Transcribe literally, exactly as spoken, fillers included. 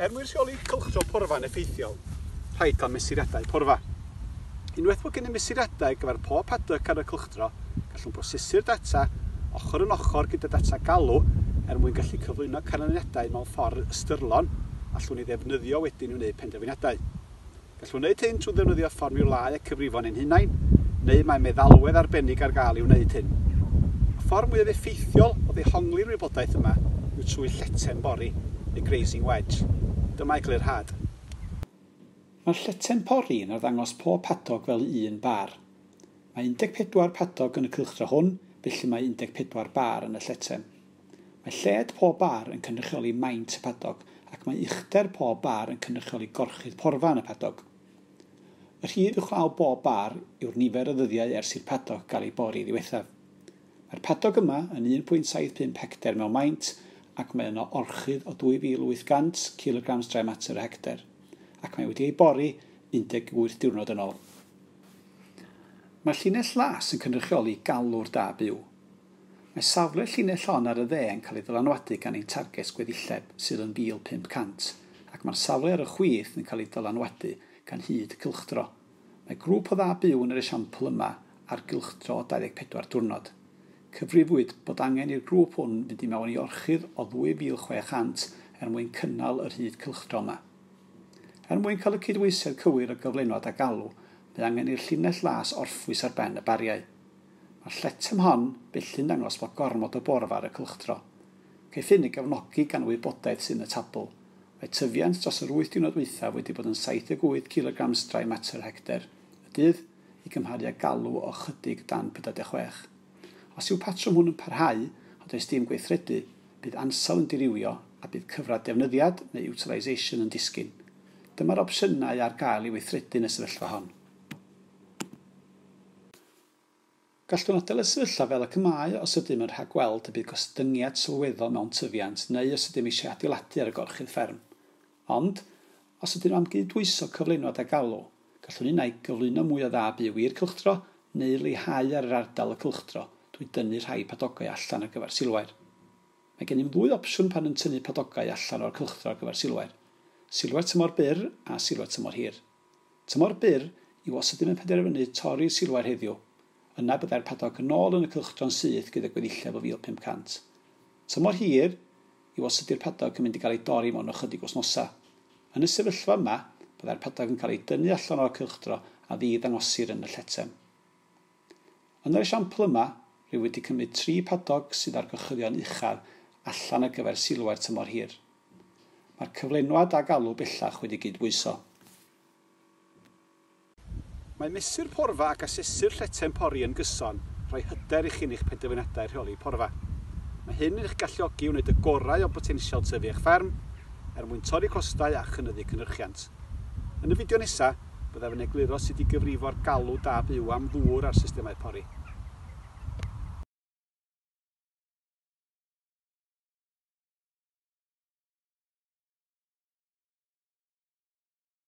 Er mwyn rheoli cylchdro porfa'n effeithiol, rhaid cael mesuriadau porfa. Unwaith bod gennym mesuriadau ar gyfer pob paddock ar y cylchdro, gallwn brosesu'r data ochr yn ochr gyda data galw er mwyn gallu cyflwyno canlyniadau mewn ffordd ystyrlon allwn ni ddefnyddio wedyn i wneud penderfyniadau. Gallwn wneud hyn trwy ddefnyddio fformiwlâu a cyfrifon ein hunain, neu mae meddalwedd arbennig ar gael i wneud hyn. Y ffordd mwyaf effeithiol o ddehongli'r wybodaeth yma yw trwy lleten bori, neu grazing wedge. Dyma eglurhad. Mae'r lleten pori yn arddangos pob padog fel un bar. Mae un deg pedwar padog yn y cylchdro hwn, felly mae un deg pedwar bar yn y lleten. Mae lled pob bar yn cynrychioli maint y padog ac mae uchder pob bar yn cynrychioli gorchudd porfa yn y padog. Y rhif uwchlaw bob bar yw'r nifer o ddyddiau ers i'r padog gael ei bori ddiwethaf. Mae'r padog yma yn un pwynt saith pump hecter mewn maint ac mae yno orchudd o dwy fil wyth gant kilograms dry matter y hecter, ac mae wedi ei bori un deg wyth diwrnod yn ôl. Mae'r llinell las yn cynrychioli galw'r da byw. Mae safle llinell hon ar y dde yn cael ei ddylanwadu gan ein targed gweddilleb sydd yn fil pump cant, ac mae'r safle ar y chwith yn cael ei ddylanwadu gan hyd y cylchdro. Mae grŵp o dda byw yn yr esiampl yma ar gylchdro o dau ddeg pedwar diwrnod. Cyfrifwyd bod angen i'r grŵp hwn fynd i mewn i orchudd o ddwy fil chwe chant er mwyn cynnal yr hyd cylchdro yma. Er mwyn cael y cydbwysedd cywir o gyflenwad a galw, mae angen i'r llinell las orffwys ar ben y bariau. Mae'r lletem hon felly'n dangos bod gormod o borfa ar y cylchdro. Caiff hyn ei gefnogi gan wybodaeth sydd yn y tabl. Mae tyfiant dros yr wyth diwrnod dwythaf wedi bod yn saith deg wyth kilograms dry matter hecter y dydd i gymharu â galw o ychydig dan pedwar deg chwech. Os yw patrwm hwn yn parhau, ond does dim gweithredu, bydd ansawdd yn dirywio a bydd cyfradd defnyddiad neu utilisation yn disgyn. Dyma'r opsiynau ar gael i weithredu yn y sefyllfa hon. Gallwn adael y sefyllfa fel y mae os ydym yn rhagweld y bydd gostyngiad sylweddol mewn tyfiant neu os ydym eisiau adeiladu ar y gorchudd fferm. Ond, os ydym am gydbwyso cyflenwad a galw, gallwn unai gyflwyno mwy o dda byw i'r cylchdro neu leihau ar yr ardal y cylchdro drwy dynnu rhai padogau allan ar gyfer silwair. Mae gennym ddwy opsiwn pan yn tynnu padogau allan o'r cylchdro ar gyfer silwair. Silwair tymor byr a silwair tymor hir. Tymor byr yw os ydym yn penderfynu torri'r silwair heddiw. Yna byddai'r padog yn ôl yn y cylchdro'n syth gyda gweddilleb o fil pump cant. Tymor hir yw os ydy'r padog yn mynd i gael ei dorri mewn ychydig wythnosau. Yn y sefyllfa yma, byddai'r padog yn cael ei dynnu allan o'r cylchdro a ddi-ddangosir yn y lletem. Yn yr esiampl yma, rwy wedi cymryd tri padog sydd ar gorchuddion uchaf allan ar gyfer silwair tymor hir. Mae'r cyflenwad a galw bellach wedi gydbwyso. Mae mesur porfa ac asesu'r lleten pori yn gyson rhoi hyder i chi yn eich penderfyniadau rheoli porfa. Mae hyn yn eich galluogi i wneud y gorau o botensial tyfu eich fferm er mwyn torri costau a chynyddu cynhyrchiant. Yn y fideo nesaf, byddaf yn egluro sut i gyfrifo'r galw da byw am ddŵr ar systemau pori.